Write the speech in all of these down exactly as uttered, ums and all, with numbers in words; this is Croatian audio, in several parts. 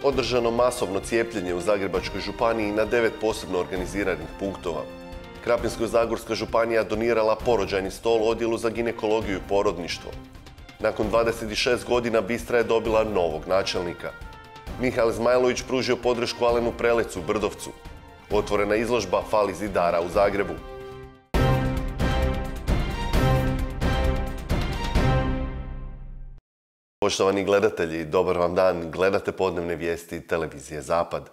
održano masovno cijepljenje u Zagrebačkoj županiji na devet posebno organiziranih punktova. Krapinsko-zagorska županija donirala porođajni stol odjelu za ginekologiju i porodništvo. Nakon dvadeset šest godina Bistra je dobila novog načelnika. Mihael Zmajlović pružio podršku Alenu Prelecu u Brdovcu. Otvorena izložba Fali zidara u Zagrebu. Poštovani gledatelji, dobar vam dan. Gledate podnevne vijesti televizije Zapad.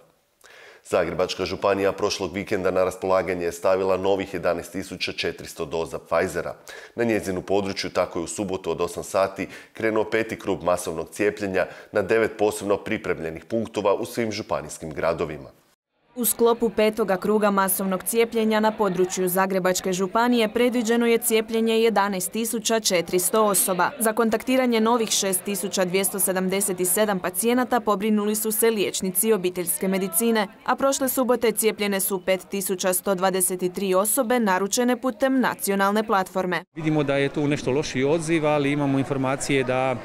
Zagrebačka županija prošlog vikenda na raspolaganje je stavila novih jedanaest tisuća četiristo doza Pfizera. Na njezinu području tako je u subotu od osam sati krenuo peti krug masovnog cijepljenja na devet posebno pripremljenih punktova u svim županijskim gradovima. U sklopu petoga kruga masovnog cijepljenja na području Zagrebačke županije predviđeno je cijepljenje jedanaest tisuća četiristo osoba. Za kontaktiranje novih šest tisuća dvjesto sedamdeset sedam pacijenata pobrinuli su se liječnici obiteljske medicine, a prošle subote cijepljene su pet tisuća sto dvadeset tri osobe naručene putem nacionalne platforme. Vidimo da je tu nešto lošiji odziv, ali imamo informacije da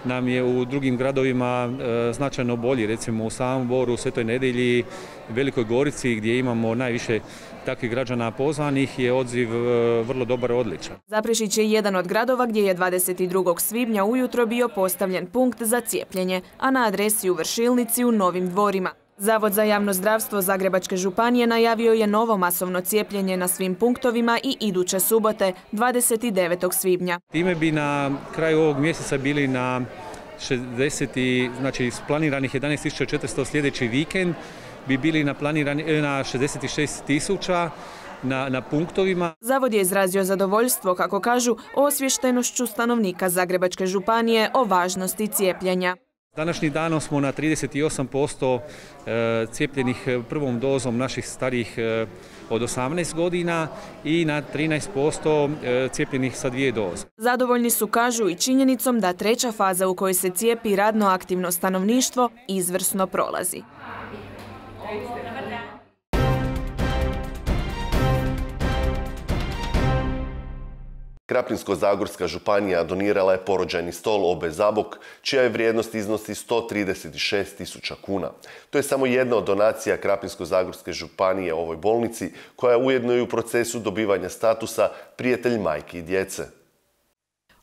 nam je u drugim gradovima e, značajno bolji, recimo u Samoboru, Svetoj Nedjelji, Velikoj Gorici, gdje imamo najviše takvih građana pozvanih, je odziv e, vrlo dobar i odličan. Zaprešić je jedan od gradova gdje je dvadeset drugog svibnja ujutro bio postavljen punkt za cijepljenje, a na adresi u Vršilnici u Novim Dvorima. Zavod za javno zdravstvo Zagrebačke županije najavio je novo masovno cijepljenje na svim punktovima i iduće subote, dvadeset devetog svibnja. Time bi na kraju ovog mjeseca bili na šezdeset, znači planiranih jedanaest tisuća četiristo sljedeći vikend, bi bili na, na šezdeset šest tisuća na, na punktovima. Zavod je izrazio zadovoljstvo, kako kažu, osviještenošću stanovnika Zagrebačke županije o važnosti cijepljenja. Današnjim danom smo na trideset osam posto cijepljenih prvom dozom naših starijih od osamnaest godina i na trinaest posto cijepljenih sa dvije doze. Zadovoljni su, kažu, i činjenicom da treća faza u kojoj se cijepi radno aktivno stanovništvo izvrsno prolazi. Krapinsko-zagorska županija donirala je porođajni stol O B Zabok, čija je vrijednost iznosi sto trideset šest tisuća kuna. To je samo jedna od donacija Krapinsko-zagorske županije ovoj bolnici, koja je ujedno i u procesu dobivanja statusa prijatelj majki i djece.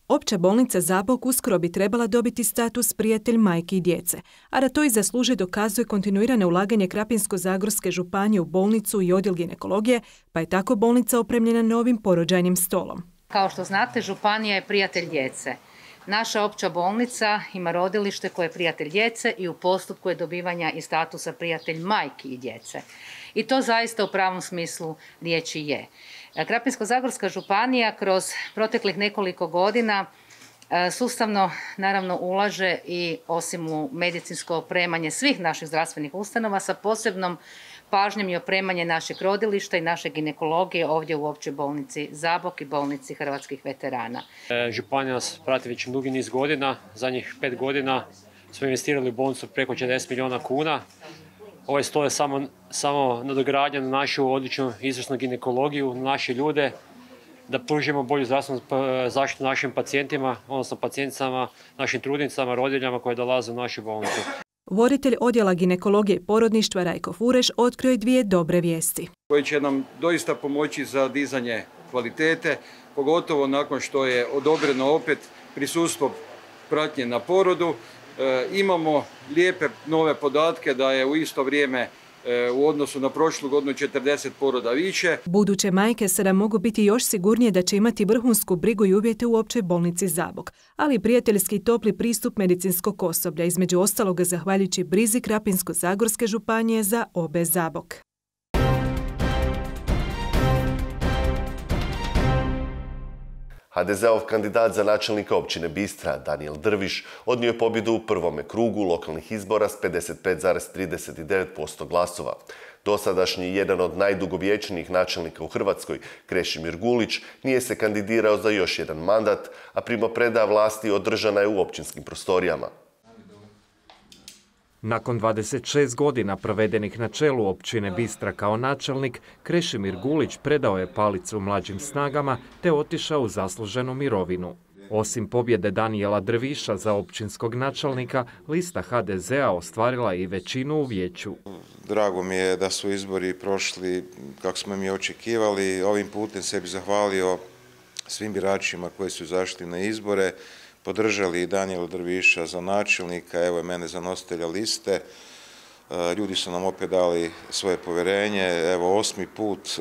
Opća bolnica Zabok uskoro bi trebala dobiti status prijatelj majki i djece, a da to i zasluži dokazuje kontinuirano ulaganje Krapinsko-zagorske županije u bolnicu i odjel ginekologije, pa je tako bolnica opremljena novim porođajnim stolom. Kao što znate, županija je prijatelj djece. Naša opća bolnica ima rodilište koje je prijatelj djece i u postupku je dobivanja i statusa prijatelj majki i djece. I to zaista u pravom smislu riječi je. Krapinsko-zagorska županija kroz proteklih nekoliko godina sustavno naravno ulaže i osim u medicinsko opremanje svih naših zdravstvenih ustanova sa posebnom pažnjom i opremanje našeg rodilišta i naše ginekologije ovdje u općoj bolnici Zabok i bolnici hrvatskih veterana. Županija nas prati već dugi niz godina. Zadnjih pet godina smo investirali u bolnicu preko četrdeset milijuna kuna. Ovaj stol je samo, samo nadogradnja na našu odličnu izvrsnu ginekologiju, na naše ljude, da pružimo bolju zdravstvenu zaštitu našim pacijentima, odnosno pacijenticama, našim trudnicama, rodiljama koje dolaze u našu bolnicu. Voditelj odjela ginekologije i porodništva Rajko Fureš otkrio je dvije dobre vijesti. Koje će nam doista pomoći za dizanje kvalitete, pogotovo nakon što je odobreno opet prisustvo pratnje na porodu. E, imamo lijepe nove podatke da je u isto vrijeme e, u odnosu na prošlu godinu četrdeset poroda više. Buduće majke sada mogu biti još sigurnije da će imati vrhunsku brigu i uvjete u općoj bolnici Zabok, ali i prijateljski i topli pristup medicinskog osoblja, između ostaloga zahvaljujući brizi Krapinsko-zagorske županije za O B Zabok. ha de zeov kandidat za načelnika općine Bistra, Danijel Drviš, odnio je pobjedu u prvome krugu lokalnih izbora s pedeset pet zarez trideset devet posto glasova. Dosadašnji jedan od najdugovječnijih načelnika u Hrvatskoj, Krešimir Gulić, nije se kandidirao za još jedan mandat, a primopredaja vlasti održana je u općinskim prostorijama. Nakon dvadeset šest godina provedenih na čelu općine Bistra kao načelnik, Krešimir Gulić predao je palicu mlađim snagama te otišao u zasluženu mirovinu. Osim pobjede Danijela Drviša za općinskog načelnika, lista ha de zea ostvarila i većinu u vijeću. Drago mi je da su izbori prošli kako smo mi očekivali. Ovim putem se bih zahvalio svim biračima koji su izašli na izbore, podržali Danijela Drviša za načelnika, evo i mene za nositelja liste. Ljudi su nam opet dali svoje povjerenje, evo osmi put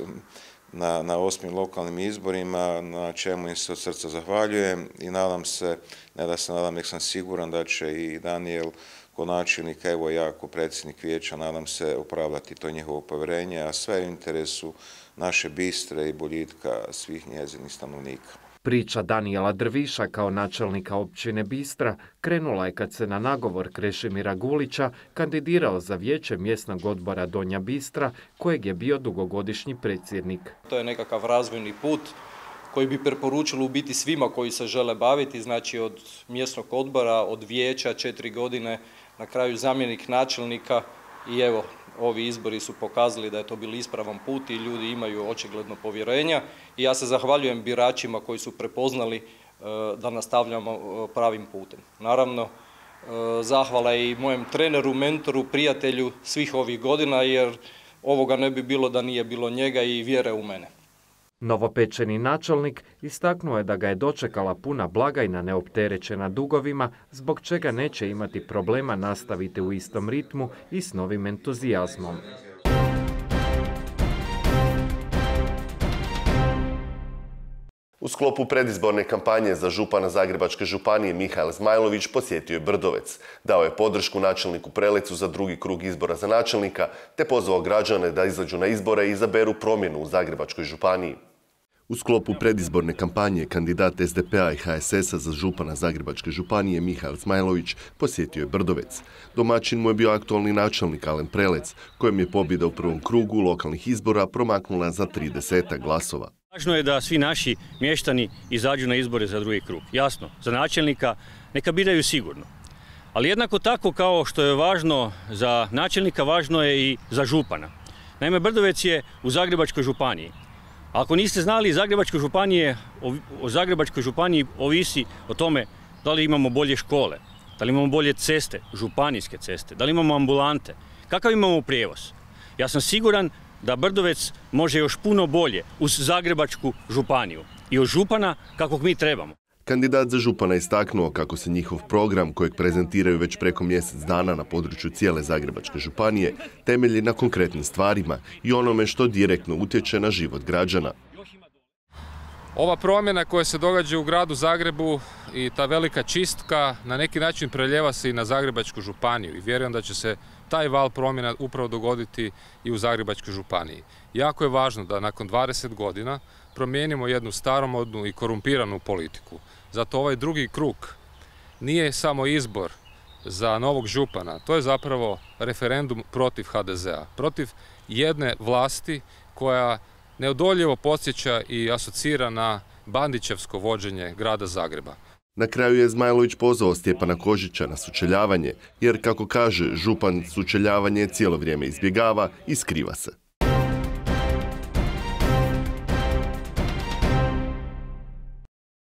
na, na osmim lokalnim izborima, na čemu im se od srca zahvaljujem i nadam se, ne da se nadam, nek sam siguran da će i Danijel ko načelnik, evo ja ko predsjednik vijeća, nadam se opravdati to njihovo povjerenje, a sve u interesu naše Bistre i boljitka svih njezinih stanovnika. Priča Danijela Drviša kao načelnika općine Bistra krenula je kad se na nagovor Krešimira Gulića kandidirao za vijeće mjesnog odbora Donja Bistra, kojeg je bio dugogodišnji predsjednik. To je nekakav razvojni put koji bi preporučilo u biti svima koji se žele baviti, znači od mjesnog odbora, od vijeća, četiri godine, na kraju zamjenik načelnika i evo, ovi izbori su pokazali da je to bil ispravan put i ljudi imaju očigledno povjerenja i ja se zahvaljujem biračima koji su prepoznali da nastavljamo pravim putem. Naravno, zahvala i mojem treneru, mentoru, prijatelju svih ovih godina jer ovoga ne bi bilo da nije bilo njega i vjere u mene. Novopečeni načelnik istaknuo je da ga je dočekala puna blagajna neopterećena dugovima, zbog čega neće imati problema nastaviti u istom ritmu i s novim entuzijazmom. U sklopu predizborne kampanje za župana Zagrebačke županije Mihael Zmajlović posjetio je Brdovec. Dao je podršku načelniku Prelecu za drugi krug izbora za načelnika, te pozvao građane da izađu na izbore i izaberu promjenu u Zagrebačkoj županiji. U sklopu predizborne kampanje kandidat es de pe a i ha es es a za župana Zagrebačke županije Mihael Zmajlović posjetio je Brdovec. Domaćin mu je bio aktualni načelnik Alen Prelec, kojem je pobjeda u prvom krugu lokalnih izbora promaknula za trideset glasova. Važno je da svi naši mještani izađu na izbore za drugi krug. Jasno, za načelnika neka biraju sigurno. Ali jednako tako kao što je važno za načelnika, važno je i za župana. Naime, Brdovec je u Zagrebačkoj županiji. Ako niste znali, Zagrebačkoj županije, o Zagrebačkoj županiji ovisi o tome da li imamo bolje škole, da li imamo bolje ceste, županijske ceste, da li imamo ambulante, kakav imamo prijevoz. Ja sam siguran da Brdovec može još puno bolje uz Zagrebačku županiju i od župana kakvog mi trebamo. Kandidat za župana istaknuo kako se njihov program, kojeg prezentiraju već preko mjesec dana na području cijele Zagrebačke županije, temelji na konkretnim stvarima i onome što direktno utječe na život građana. Ova promjena koja se događa u gradu Zagrebu i ta velika čistka na neki način preljeva se i na Zagrebačku županiju i vjerujem da će se taj val promjena upravo dogoditi i u Zagrebačkoj županiji. Jako je važno da nakon dvadeset godina promijenimo jednu staromodnu i korumpiranu politiku. Zato ovaj drugi krug nije samo izbor za novog župana, to je zapravo referendum protiv ha de zea, protiv jedne vlasti koja neodoljivo podsjeća i asocira na Bandićevsko vođenje grada Zagreba. Na kraju je Zmajlović pozvao Stjepana Kožića na sučeljavanje, jer kako kaže, župan sučeljavanje cijelo vrijeme izbjegava i skriva se.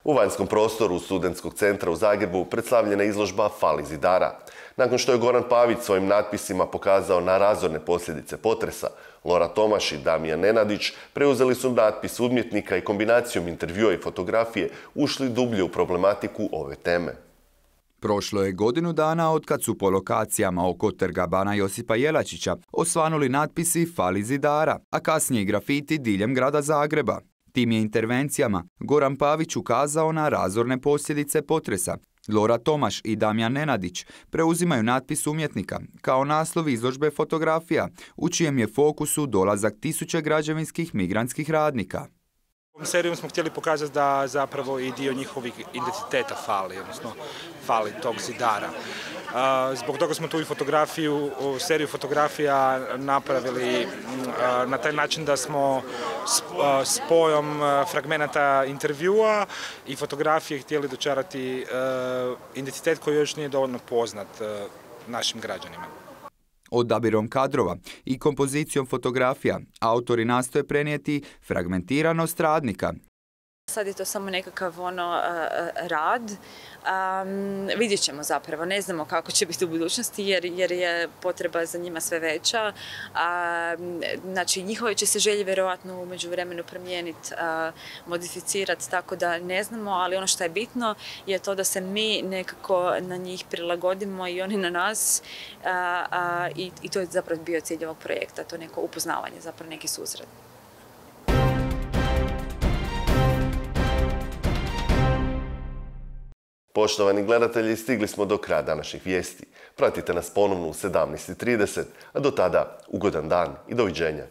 U vanjskom prostoru Studentskog centra u Zagrebu predstavljena izložba Fali zidara. Nakon što je Goran Pavić svojim natpisima pokazao na razorne posljedice potresa, Lora Tomaš i Damijan Nenadić preuzeli su natpis umjetnika i kombinacijom intervjua i fotografije ušli dublje u problematiku ove teme. Prošlo je godinu dana od kad su po lokacijama oko Trga Bana Josipa Jelačića osvanuli natpisi Fali zidara, a kasnije i grafiti diljem grada Zagreba. Tim je intervencijama Goran Pavić ukazao na razorne posljedice potresa. Lora Tomaš i Damijan Nenadić preuzimaju natpis umjetnika kao naslov izložbe fotografija, u čijem je fokusu dolazak tisuće građevinskih migrantskih radnika. Ovom serijom smo htjeli pokazati da zapravo i dio njihovih identiteta fali, odnosno fali tog zidara. Zbog toga smo tu i fotografiju, seriju fotografija napravili na taj način da smo spojom fragmenata intervjua i fotografije htjeli dočarati identitet koji još nije dovoljno poznat našim građanima. Odabirom kadrova i kompozicijom fotografija autori nastoje prenijeti fragmentiranost radnika. sad je to samo nekakav ono rad. Um, vidjet ćemo zapravo, ne znamo kako će biti u budućnosti jer, jer je potreba za njima sve veća. Um, znači, njihove će se želje vjerojatno u međuvremenu promijeniti, uh, modificirati, tako da ne znamo, ali ono što je bitno je to da se mi nekako na njih prilagodimo i oni na nas uh, uh, i, i to je zapravo bio cilj ovog projekta, to neko upoznavanje, zapravo neki susret. Poštovani gledatelji, stigli smo do kraja današnjih vijesti. Pratite nas ponovno u sedamnaest i trideset, a do tada ugodan dan i doviđenja.